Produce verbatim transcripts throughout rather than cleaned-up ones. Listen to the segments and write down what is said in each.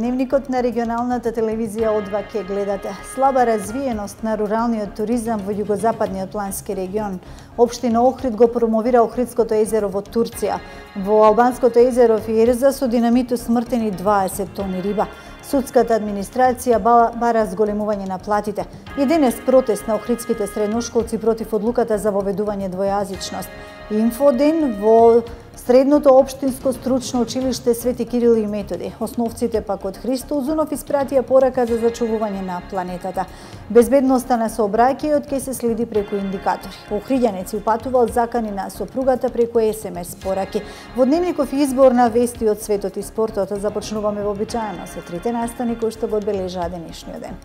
Дневникот на регионалната телевизија О два ќе гледате. Слаба развиеност на руралниот туризам во југозападниот плански регион. Општина Охрид го промовира Охридското езеро во Турција. Во албанското езеро Фиерза со динамит усмртени дваесет тони риба. Судската администрација бара зголемување на платите. И денес протест на охридските средношколци против одлуката за воведување двојазичност. Инфоден во Средното општинско стручно училиште Свети Кирил и Методи. Основците пак од Христо Узунов испратија порака за зачувување на планетата. Безбедноста на сообраќајот ќе се следи преку индикатори. Охриѓанец упатувал закани на сопругата преку ес ем ес пораки. Во Дневников избор на вести од светот и спортот започнуваме вообичаено со трите настани кои што го одбележаа денешниот ден.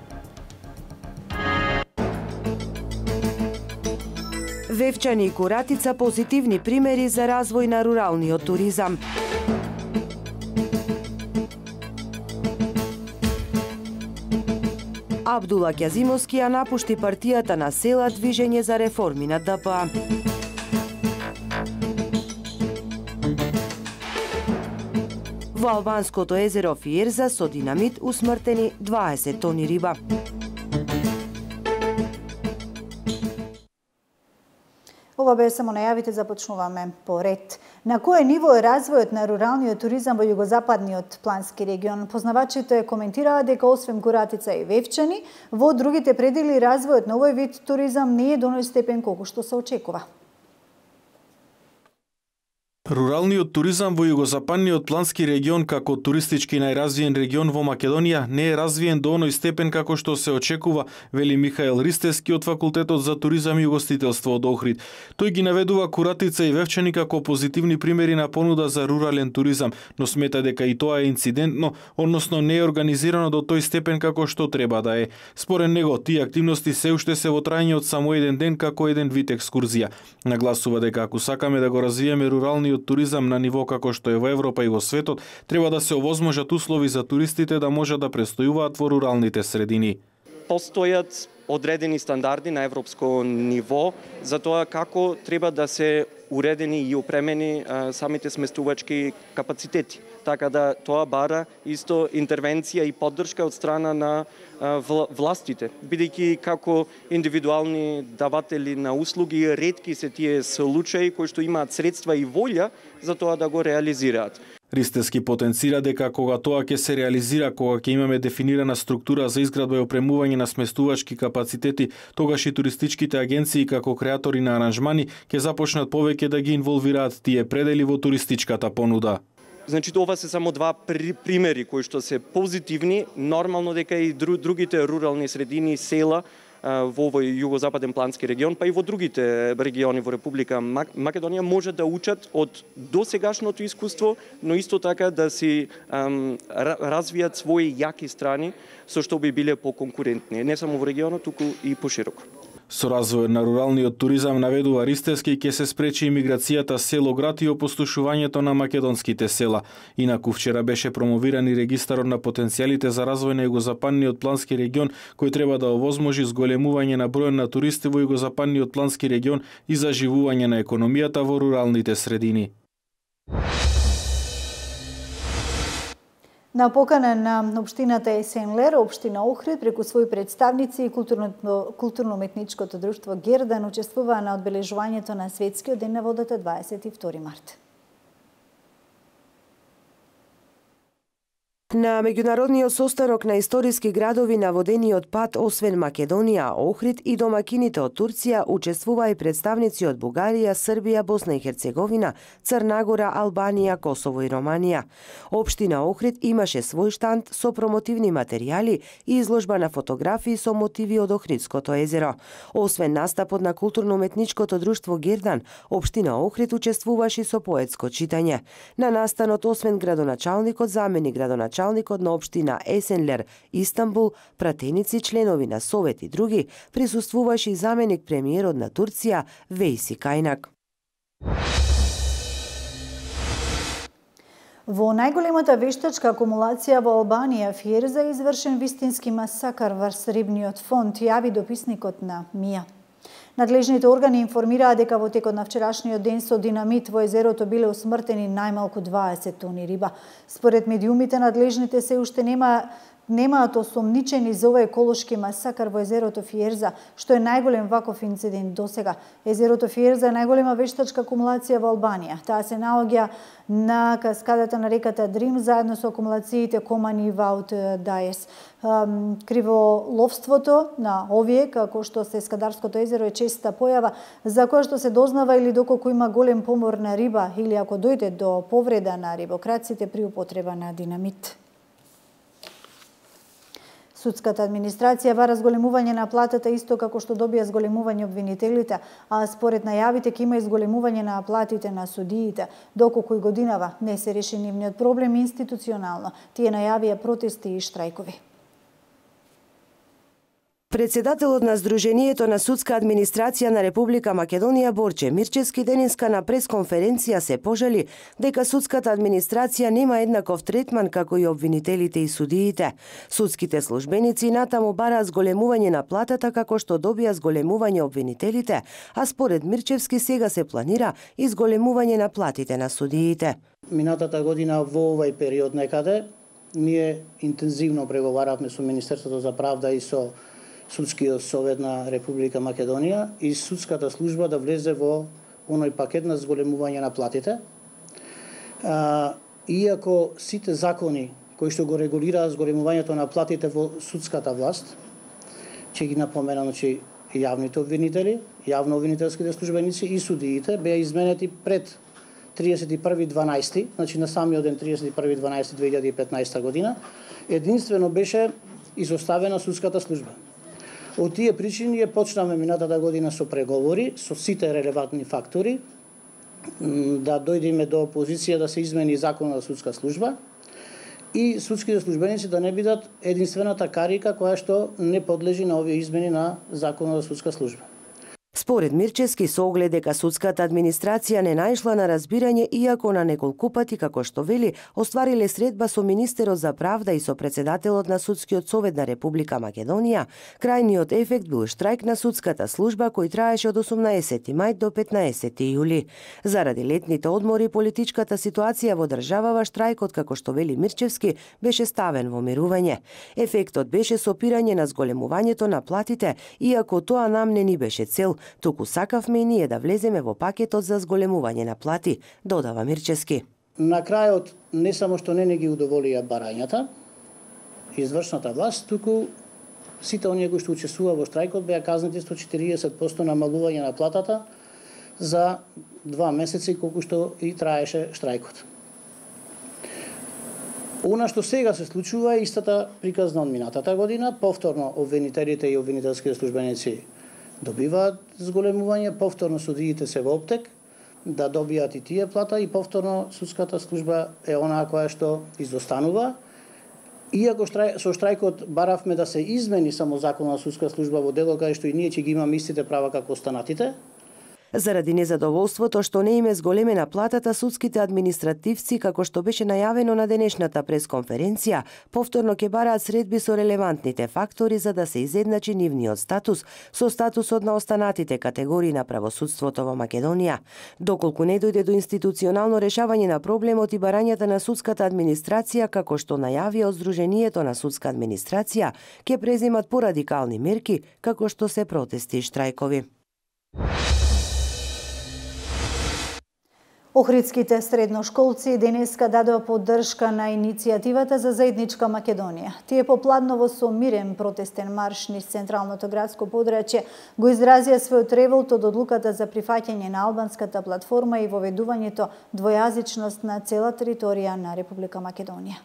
Вевчани и Куратица позитивни примери за развој на руралниот туризам. Абдула Ќазимовски ја напушти партијата на села Движење за реформи на Д П А. Во албанското езеро Фиерза со динамит усмртени дваесет тони риба. Ова бе само најавите, започнуваме по ред. На кое ниво е развојот на руралниот туризам во југозападниот плански регион? Познавачите коментираа дека освен Куратица и Вевчани, во другите предели развојот на овој вид туризам не е до оној степен колку што се очекува. Руралниот туризам во југозападниот плански регион како туристички најразвиен регион во Македонија не е развиен до оној степен како што се очекува, вели Михаел Ристевски од Факултетот за туризам и угостителство од Охрид. Тој ги наведува Куратица и Вевчани како позитивни примери на понуда за рурален туризам, но смета дека и тоа е инцидентно, односно не е организирано до тој степен како што треба да е. Според него, тие активности се уште се во трајање од само еден ден како еден вид екскурзија. Нагласува дека ако сакаме да го развиеме руралниот туризам на ниво како што е во Европа и во светот, треба да се овозможат услови за туристите да можат да престојуваат во руралните средини. Постојат одредени стандарди на европско ниво за тоа како треба да се уредени и опремени а, самите сместувачки капацитети. Така да тоа бара исто интервенција и поддршка од страна на а, властите, бидејќи како индивидуални даватели на услуги ретки се тие случаи кои што имаат средства и волја за тоа да го реализираат. Ристевски потенцира дека кога тоа ќе се реализира, кога ќе имаме дефинирана структура за изградба и опремување на сместувачки капацитети, тогаш и туристичките агенции како креатори на аранжмани ќе започнат повеќе да ги инволвираат тие предели во туристичката понуда. Значи, ова се само два примери кои што се позитивни, нормално дека и другите рурални средини, села во овој југозападен плански регион, па и во другите региони во Република Македонија може да учат од досегашното искуство, но исто така да си ам, развијат своји јаки страни со што би биле поконкурентни, не само во регионот, туку и пошироко. Со развојот на руралниот туризам, наведува Ристевски, ќе се спречи имиграцијата село-град и опустошувањето на македонските села. Инаку вчера беше промовиран и регистарот на потенцијалите за развој на југозападниот плански регион, кој треба да овозможи зголемување на бројот на туристи во југозападниот плански регион и заживување на економијата во руралните средини. На покана на општината Есенлер, општина Охрид преку своји представници и културно-уметничкото друштво Гердан учествуваа на одбележувањето на Светскиот ден на водата дваесет и втори март. На меѓународниот состанок на историски градови на водениот пат, освен Македонија, Охрид и домакините од Турција, учествуваа и представници од Бугарија, Србија, Босна и Херцеговина, Црна Гора, Албанија, Косово и Романија. Општина Охрид имаше свој штанд со промотивни материјали и изложба на фотографии со мотиви од Охридското езеро. Освен настапот на културно-уметничкото друштво Гердан, општина Охрид учествуваше со поетско читање. На настанот, освен градоначалникот, заменик градоначалникот, началникот на општина Есенлер, Истанбул, пратеници, членови на Совет и други, присуствуваше и заменик премиерот на Турција Вейси Кајнак. Во најголемата вештачка акумулација во Албанија, Фиерза, извршен вистински масакар врз рибниот фонд, јави дописникот на МИА. Надлежните органи информираа дека во текот на вчерашниот ден со динамит во езерото биле усмртени најмалку дваесет тони риба. Според медиумите, надлежните се уште нема немаат осомничени за овој еколошки масакар во езерото Фиерза, што е најголем ваков инцидент досега. Езерото Фиерза е најголема вештачка акумулација во Албанија. Таа се наоѓа на каскадата на реката Дрим заедно со акумулациите Комани и Ваут Даес. Криволовството на овие, како што се Скадарското езеро, е честа појава за која што се дознава или доколку има голем помор на риба или ако дојде до повреда на рибокраците при употреба на динамит. Судската администрација бара зголемување на платата исто како што добија зголемување обвинителите, а според најавите ќе има и зголемување на платите на судиите. Доколку и годинава не се реши нивниот проблем институционално, тие најавија протести и штрајкови. Председателот на Сдруженијето на судска администрација на Република Македонија Борче Мирчевски денеска на пресконференција се пожали дека судската администрација нема еднаков третман како и обвинителите и судиите. Судските службеници натаму бараат зголемување на платата како што добија зголемување обвинителите, а според Мирчевски сега се планира и зголемување на платите на судиите. Минатата година во овој период некаде ние интензивно преговаравме со Министерството за правда и со Судскиот совет на Република Македонија и судската служба да влезе во оној пакет на зголемување на платите. А, иако сите закони кои што го регулираат зголемувањето на платите во судската власт, ќе ги напоменам, че јавните обвинители, јавно обвинителските службеници и судиите беа изменети пред триесет и први дванаести, значи на самиот ден триесет и први дванаести две илјади и петнаесета година, единствено беше изоставена судската служба. Од тие причини ја почнаме минатата година со преговори со сите релевантни фактори да дојдеме до позиција да се измени законот за судска служба и судските службеници да не бидат единствената карика која што не подлежи на овие измени на законот за судска служба. Според Мирчевски, со оглед дека судската администрација не наишла на разбирање, иако на неколку пати, како што вели, оствариле средба со министерот за правда и со председателот на Судскиот совет на Република Македонија, крајниот ефект бил штрајк на судската служба кој траеше од осумнаесети мај до петнаесети јули. Заради летните одмори, политичката ситуација во државава, штрајкот, како што вели Мирчевски, беше ставен во мирување. Ефектот беше сопирање на зголемувањето на платите, иако тоа нам не ни беше цел, туку сакавме и ние да влеземе во пакетот за зголемување на плати, додава Мирчевски. На крајот не само што не не ги удоволија барањата, извршната власт, туку сите оние кои што учествува во штрајкот беа казнети сто четириесет проценти намалување на платата за два месеци колку што и траеше штрајкот. Она што сега се случува е истата приказна од минатата година, повторно обвинителите и обвинителските службеници добиваат зголемување, повторно судиите се во оптек да добијат и тие плата и повторно судската служба е онаа која што изостанува. Иако штрај, со штрајкот баравме да се измени само законот на судска служба во дело кај што и ние ќе ги имаме истите права како останатите. Заради незадоволството што не им е зголемена платата, судските административци, како што беше најавено на денешната пресконференција, повторно ќе бараат средби со релевантните фактори за да се изедначи нивниот статус со статусот на останатите категории на правосудството во Македонија. Доколку не дојде до институционално решавање на проблемот и барањата на судската администрација, како што најавија од Сдруженијето на судска администрација, ќе преземат порадикални мерки, како што се протести и штрајкови. Охридските средношколци денеска дадоа поддршка на иницијативата за заедничка Македонија. Тие попладново со мирен протестен марш низ централното градско подрачје го изразија својот револт од одлуката за прифаќање на албанската платформа и воведувањето двојазичност на цела територија на Република Македонија.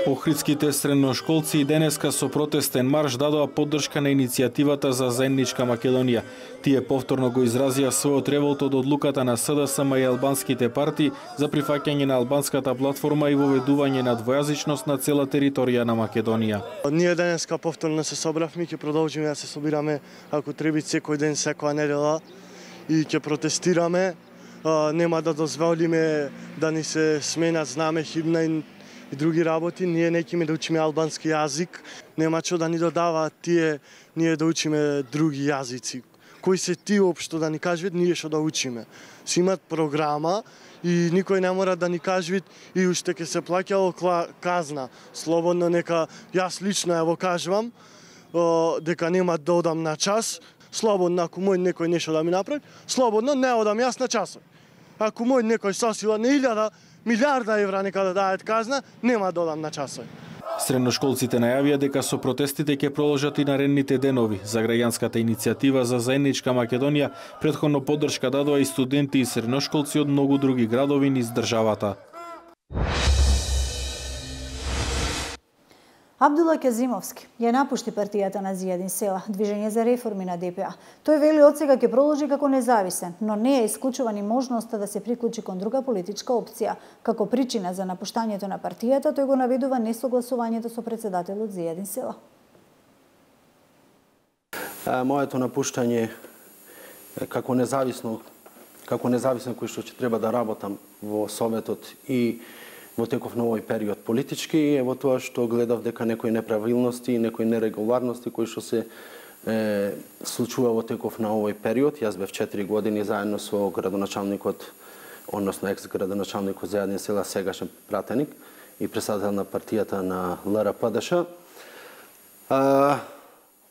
Охридските средношколци и денеска со протестен марш дадоа поддршка на иницијативата за заедничка Македонија. Тие повторно го изразија својот револт од одлуката на СДСМ и албанските партии за прифаќање на албанската платформа и воведување на двојазичност на цела територија на Македонија. Ние денеска повторно се собравме, ќе продолжиме да се собираме ако треба секој ден, секоја недела и ќе протестираме. Нема да дозволиме да ни се сменат знаме, химна и и други работи, ние не ќе да учиме албански јазик, нема што да ни додаваат тие, ние да учиме други јазици. Кои се тие општо да ни кажат, ние што да учиме. Си имат програма и никој не мора да ни кажат и уште ќе се плаќало казна. Слободно нека, јас лично ево кажувам, дека нема да одам на час, слободно ако мој некој нешто да ми направи, слободно не одам јас на часот. Ако мој некој сосила на илјада, милиарда евра нека да дајат казна, нема да одам на часот. Средношколците најавија дека со протестите ќе продолжат и наредните денови. За граѓанската иницијатива за заедничка Македонија претходно поддршка дадоа и студенти и средношколци од многу други градови низ државата. Абдула Казимовски ја напушти партијата на Зијадин Села, Движење за реформи на Д П А. Тој вели од сега ќе продолжи како независен, но не е исклучува ни можноста да се приклучи кон друга политичка опција. Како причина за напуштањето на партијата, тој го наведува несогласувањето со председателот Зијадин Села. Моето напуштање како независно, како независен кој што ќе треба да работам во Советот и во теков на овој период политички, е во тоа што гледав дека некои неправилности и некои нерегуларности кои што се е, случува во теков на овој период. Јас бев четири години заедно со градоначалникот, односно екс-градоначалникот Зијадин Села, сегашен пратеник и председател на партијата на Л Р П Д Ш. А,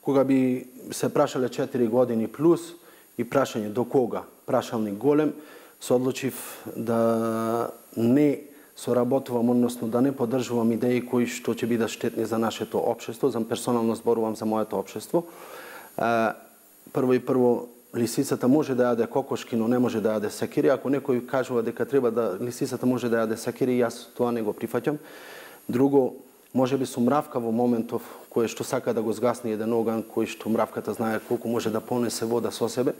кога би се прашале четири години плюс и прашање до кога, прашалник голем, се одлучив да не соработувам, односно да не поддржувам идеи кои што ќе бидат штетни за нашето општество, за персонално зборувам за моето општество. Прво и прво, лисицата може да јаде кокошки, но не може да јаде сакири. Ако некој кажува дека треба да лисицата може да јаде сакири, јас тоа не го прифаќам. Друго, може би сум мравка во моментов кој што сака да го згасне еден оган, кој што мравката знае колку може да понесе вода со себе,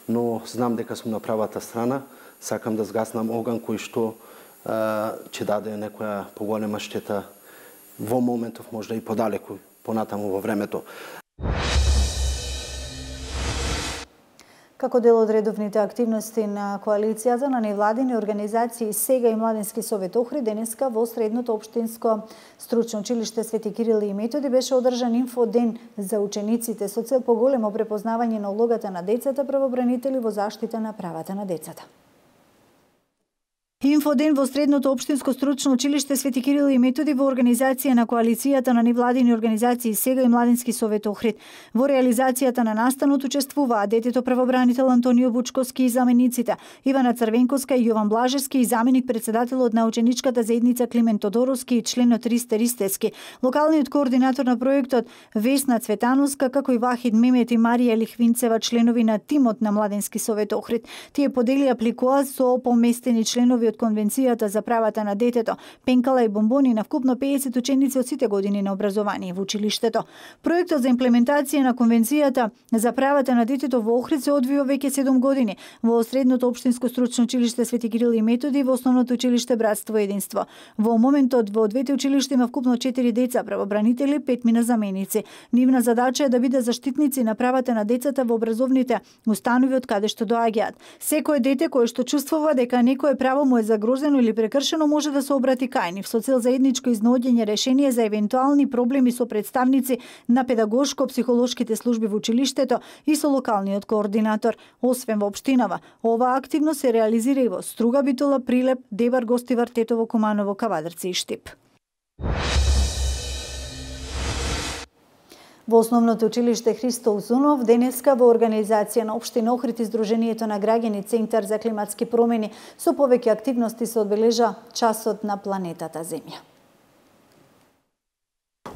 но знам дека сум на правата страна, сакам да згаснам оган кој што ќе даде некоја поголема штета во моментов, можда и подалеку, понатаму во времето. Како дел од редовните активности на коалицијата на невладини организации Сега и Младински совет Охрид, денеска во Средното општинско стручно училиште Свети Кирил и Методи беше одржан инфоден за учениците со цел поголемо препознавање на улогата на децата правобранители во заштита на правата на децата. Инфоден во Средното општинско стручно училиште Свети Кирил и Методи во организација на коалицијата на невладини организации Сега и Младински совет Охрид. Во реализацијата на настанот учествуваа детето правобранител Антонио Бучковски и замениците Ивана Црвенковска и Јован Блажевски и заменик председателот на ученичката заедница Климент Тодоровски и членот Ристе Ристески, локалниот координатор на проектот Весна Цветановска, како и Вахид Мемет и Марија Лихвинцева, членови на тимот на Младински совет Охрид. Тие поделија пликоа со поместени членови од Конвенцијата за правата на детето, пенкала и бомбони на вкупно педесет ученици од сите години на образование во училиштето. Проектот за имплементација на Конвенцијата за правата на детето во Охрид се одвива веќе седум години во Средното општинско стручно училиште Свети Кирил и Методи и во Основното училиште Братство и единство. Во моментот во двете училишта има вкупно четири деца правобранители, пет мина заменици. Нивна задача е да биде заштитници на правата на децата во образовните установи од каде што доаѓаат. Секое дете кое што чувствува дека некое право му е загрозено или прекршено може да се обрати кај нив со цел заедничко изнаоѓање решение за евентуални проблеми со представници на педагошко-психолошките служби во училиштето и со локалниот координатор. Освен во општинава, оваа активност се реализира и во Струга, Битола, Прилеп, Дебар, Гостивар, Тетово, Куманово, Кавадарци и Штип. Во Основното училиште Христо Узунов денеска во организација на Општина Охрид и Сдруженијето на граѓани Центар за климатски промени со повеќе активности се одбележа часот на планетата Земја.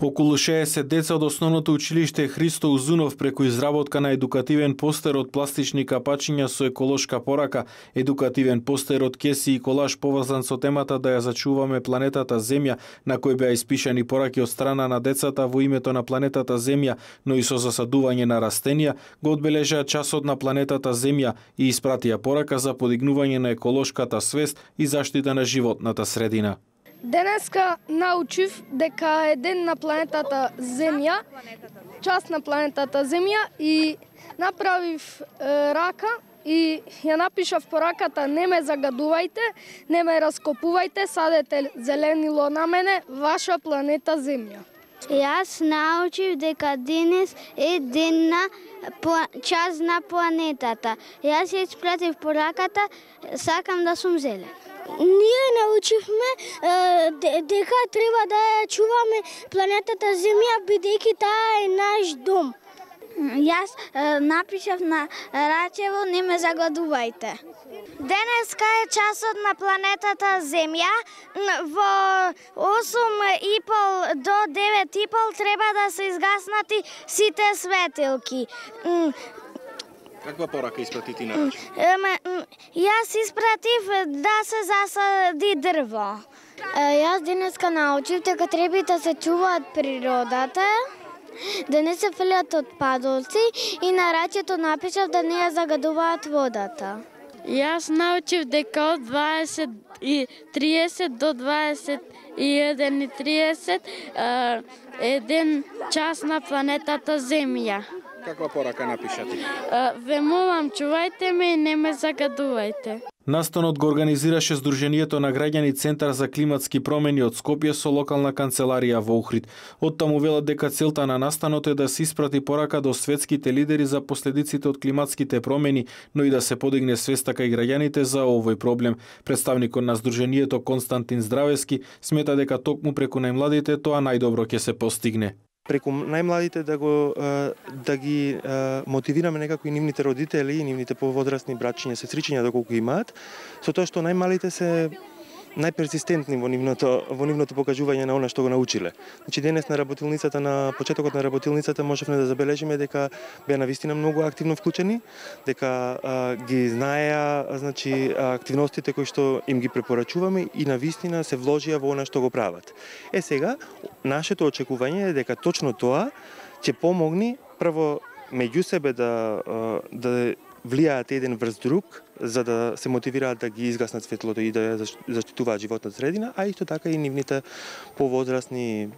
Околу шеесет деца од Основното училиште Христо Узунов преку изработка на едукативен постер од пластични капачиња со еколошка порака, едукативен постер од кеси и колаж поврзан со темата да ја зачуваме планетата Земја, на кој беа испишани пораки од страна на децата во името на планетата Земја, но и со засадување на растенија, го одбележаа часот на планетата Земја и испратија порака за подигнување на еколошката свест и заштита на животната средина. Денеска научив дека е ден на планетата Земја, час на планетата Земја и направив е, рака и ја напишав пораката: не ме загадувајте, не ме раскопувајте, садете зеленило на мене, ваша планета Земја. Јас научив дека денес е ден на час на планетата. Јас ја испратив пораката, сакам да сум зелен. Ние научивме дека треба да ја чуваме планетата Земја, бидејќи таа е наш дом. Јас напишав на рачево: не ме загадувајте. Денеска е часот на планетата Земја. Во осум и пол до девет и пол треба да се изгаснати сите светилки. Каква порака испрати ти на рачево? Јас испратив да се засади дрво. Јас денеска научив дека треба да се чуваат природата, да не се фрлат отпадоци, и на рачето напишав да не ја загадуваат водата. Јас научив дека од дваесет и триесет до дваесет и еден и триесет е ден час на планетата Земја. Каква порака напиша ти? Ве молам, чувајте ме и не ме загадувајте. Настанот го организираше Сдруженијето на граѓани Центар за климатски промени од Скопје со локална канцеларија во Охрид. Оттаму велат дека целта на настанот е да се испрати порака до светските лидери за последиците од климатските промени, но и да се подигне свеста кај граѓаните за овој проблем. Представникот на Сдруженијето Константин Здравески смета дека токму преку најмладите тоа најдобро ќе се постигне. Преку најмладите да го да ги мотивираме некако и нивните родители и нивните поводрасни брачиња, сестричиња доколку имаат, со тоа што најмалите се најперзистентни во нивното во нивното покажување на она што го научиле. Значи денес на работилницата, на почетокот на работилницата можевме да забележиме дека беа навистина многу активно вклучени, дека а, ги знаеа, значи активностите кои што им ги препорачуваме и навистина се вложија во она што го прават. Е сега нашето очекување е дека точно тоа ќе помогне прво меѓу себе да да влијаат еден врз друг, за да се мотивираат да ги изгаснат светлото и да ја заштитуваат животната средина, а исто така и нивните повозрасни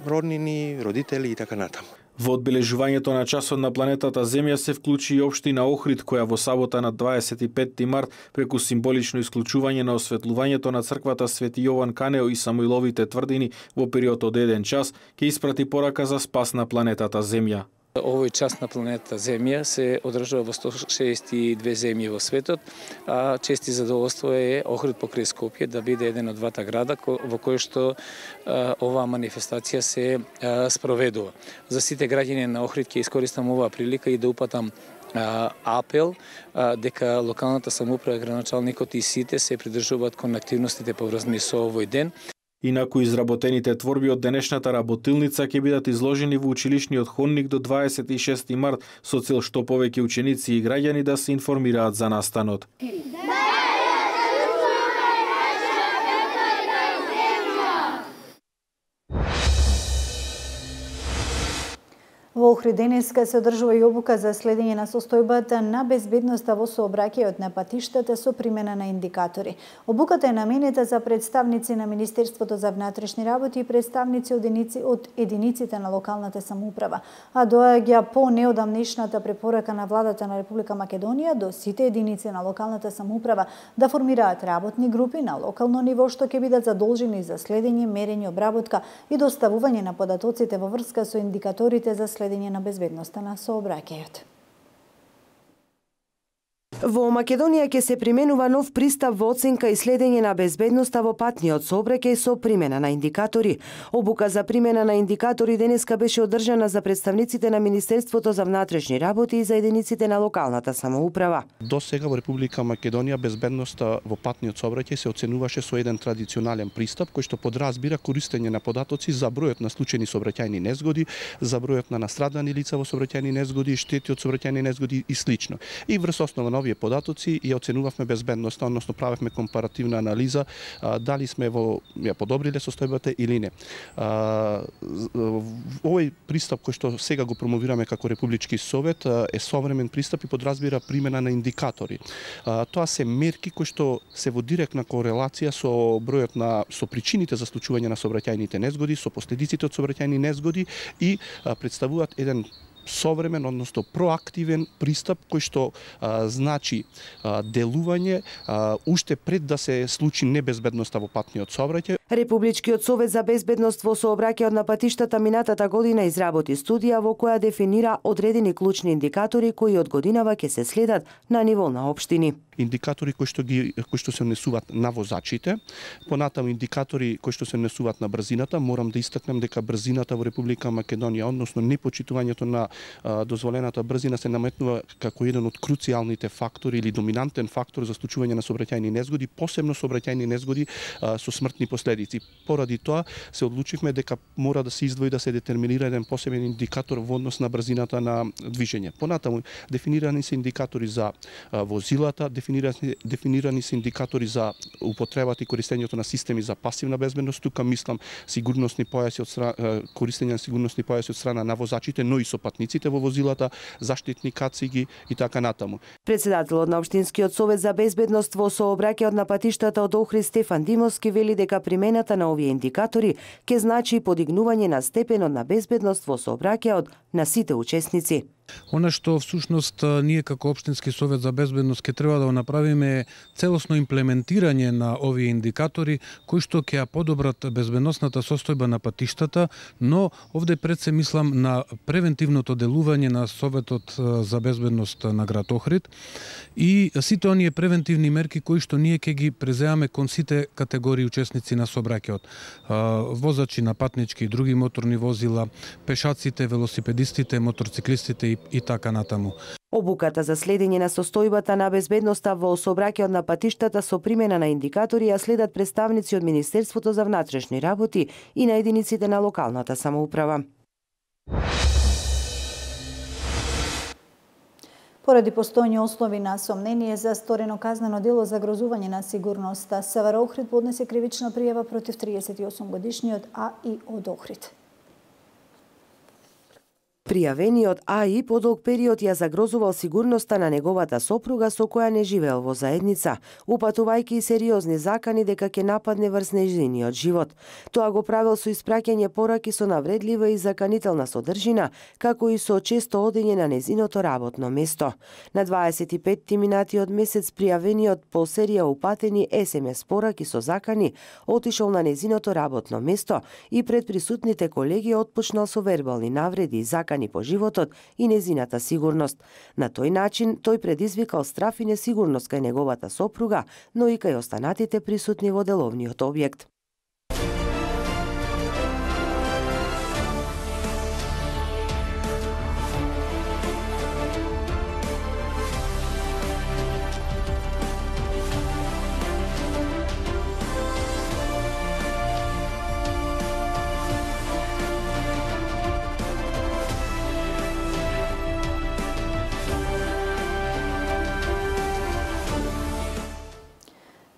роднини, родители и така натаму. Во одбележувањето на часот на планетата Земја се вклучи и општина Охрид, која во сабота на дваесет и петти март преку символично исклучување на осветлувањето на црквата Свети Јован Канео и Самуиловите тврдини во период од еден час ќе испрати порака за спас на планетата Земја. Овој час на планетата Земја се одржува во сто шеесет и две земји во светот, а чести задоволство е Охрид покрај Скопје да биде еден од двата града во кој што а, оваа манифестација се а, спроведува. За сите граѓани на Охрид ќе искористам оваа прилика и да упатам а, апел а, дека локалната самоуправа, градоначалникот и сите се придржуваат кон активностите поврзани со овој ден. Инаку изработените творби од денешната работилница ќе бидат изложени во училишниот ходник до дваесет и шести март со цел што повеќе ученици и граѓани да се информираат за настанот. Во Охрид денеска се одржува и обука за следење на состојбата на безбедноста во сообраќајот на патиштата со примена на индикатори. Обуката е наменета за представници на Министерството за внатрешни работи и представници од единици од единиците на локалната самоуправа, а доаѓа по неодамнешната препорака на владата на Република Македонија до сите единици на локалната самоуправа да формираат работни групи на локално ниво што ќе бидат задолжени за следење, мерење, обработка и доставување на податоците во врска со индикаторите за следење на безбедноста на сообраќајот. Во Македонија ќе се применува нов пристап во оценка и следење на безбедноста во патниот сообраќај со примена на индикатори. Обука за примена на индикатори денеска беше одржана за представниците на Министерството за внатрешни работи и за единиците на локалната самоуправа. До сега во Република Македонија безбедноста во патниот сообраќај се оценуваше со еден традиционален пристап кој што подразбира користење на податоци за бројот на случајни сообраќајни незгоди, за бројот на настрадани лица во сообраќајни незгоди, штети од сообраќајни незгоди и слично. И врз основа на овие податоци ја оценувавме безбедноста, односно правевме компаративна анализа а, дали сме во ја подобриле состојбата или не. А, овој пристап кој што сега го промовираме како Републички совет а, е современ пристап и подразбира примена на индикатори. А, тоа се мерки кои што се во директна корелација со бројот на со причините за случување на сообраќајните незгоди, со последиците од сообраќајни незгоди и а, представуваат еден современ, односно проактивен пристап кој што а, значи а, делување а, уште пред да се случи небезбедноста во патниот сообраќај. Републичкиот совет за безбедност во сообраќајот на патиштата минатата година изработи студија во која дефинира одредени клучни индикатори кои од годинава ќе се следат на ниво на општини. Индикатори кои што ги кои што се однесуваат на возачите, понатаму индикатори кои што се однесуваат на брзината. Морам да истакнам дека брзината во Република Македонија, односно непочитувањето на а, дозволената брзина се наметнува како еден од круцијалните фактори или доминантен фактор за случување на сообраќајни незгоди, посебно сообраќајни незгоди а, со смртни последици. Поради тоа се одлучивме дека мора да се издвои да се детерминира еден посебен индикатор во однос на брзината на движење. Понатаму дефинирани се индикатори за а, возилата, дефинирани, дефинирани се индикатори за употребата и користењето на системи за пасивна безбедност. Тука мислам сигурносни појаси од страна, користење на сигурносни појаси од страна на возачите, но и со патниците во возилата, заштитни кациги и така натаму. Председателот на Општинскиот совет за безбедност во сообраќајот на патиштата од Охрид Стефан Димовски вели дека примената на овие индикатори ќе значи подигнување на степенот на безбедност во сообраќајот на сите учесници. Она што всушност ние како Општински совет за безбедност ќе треба да направиме е целосно имплементирање на овие индикатори кои што ќе ја подобрат безбедносната состојба на патиштата, но овде пред се мислам на превентивното делување на Советот за безбедност на град Охрид и сите оние превентивни мерки кои што ние ќе ги преземаме кон сите категории учесници на сообраќајот. Возачи на патнички и други моторни возила, пешаците, велосипедистите, моторциклистите и и така натаму. Обуката за следење на состојбата на безбедноста во сообраќајот на патиштата со примена на индикатори ја следат представници од Министерството за внатрешни работи и на единиците на локалната самоуправа. Поради постојни основи на сомнение за сторено казнено дело за грозување на сигурноста, СВР Охрид поднесе кривична пријава против триесет и осум годишниот А И од Охрид. Пријавениот А И по долг период ја загрозувал сигурноста на неговата сопруга со која не живеел во заедница, упатувајќи и сериозни закани дека ќе нападне врз нејзиниот живот. Тоа го правил со испраќање пораки со навредлива и заканителна содржина, како и со често одење на нејзиното работно место. На дваесет и петти минати од месец пријавениот по серија упатени ес ем ес пораки со закани отишол на нејзиното работно место и пред присутните колеги отпочнал со вербални навреди и закани по животот и незината сигурност. На тој начин тој предизвикал страф и несигурност кај неговата сопруга, но и кај останатите присутни во деловниот објект.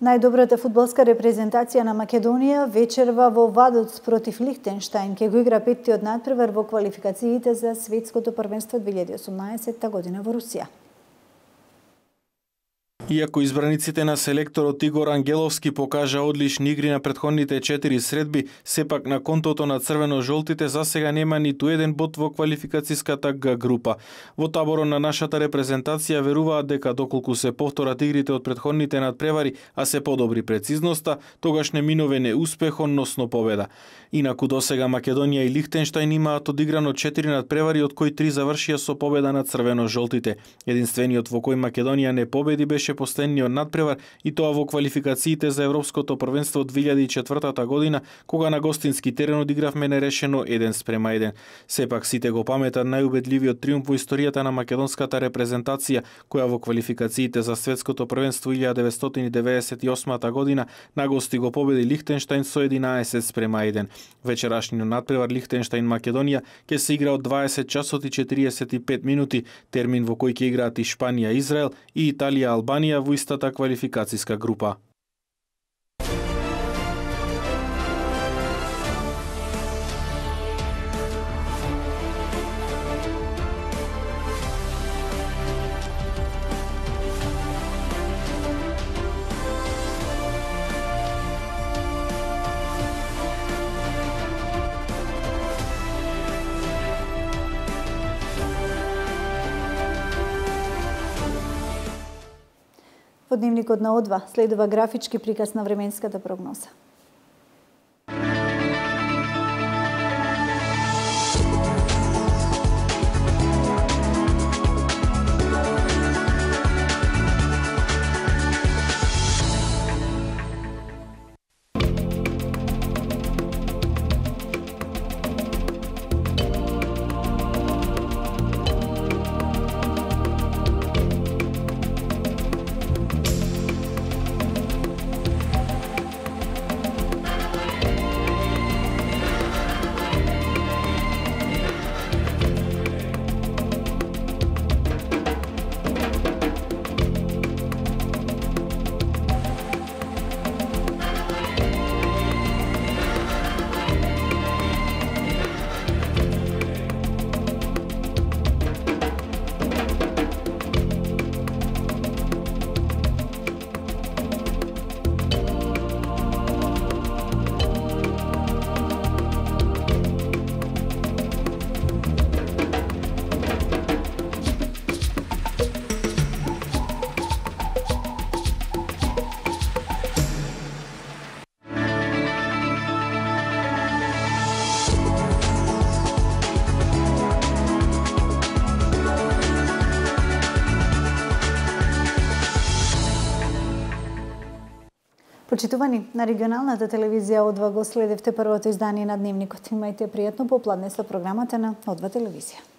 Најдобрата фудбалска репрезентација на Македонија вечерва во Вадоц против Лихтенштајн ќе го игра петтиот натпревар во квалификациите за светското првенство две илјади и осумнаесетта година во Русија. Иако избраниците на селекторот Игор Ангеловски покажа одлични игри на претходните четири средби, сепак на контото на црвено-жолтите засега нема ниту еден бод во квалификациската Г група. Во таборот на нашата репрезентација веруваат дека доколку се повторат игрите од претходните надпревари, а се подобри прецизноста, тогаш не минуве неуспех, односно победа. Инаку досега Македонија и Лихтенштајн имаат одиграно четири надпревари, од кои три завршија со победа на црвено-жолтите. Единствениот во кој Македонија не победи беше последниот надпревар и тоа во квалификациите за Европското првенство две илјади и четвртата година, кога на гостински терен одигравме нерешено еден спрема еден. Сепак сите го паметат најубедливиот триумф во историјата на македонската репрезентација, која во квалификациите за Светското првенство илјада деветстотини деветдесет и осма година на гости го победи Лихтенштајн со единаесет спрема еден. Вечерашниот надпревар Лихтенштајн Македонија ќе се игра од дваесет часот и четириесет и пет минути, термин во кој ќе играат и Шпанија, Израел и Италија, Албанија во истата квалификациска група. По дневникот на О два следува графички приказ на временската прогноза. Почитувани, на регионалната телевизија О два го следевте првото издание на Дневникот. Имајте пријатно попладне со програмата на О два телевизија.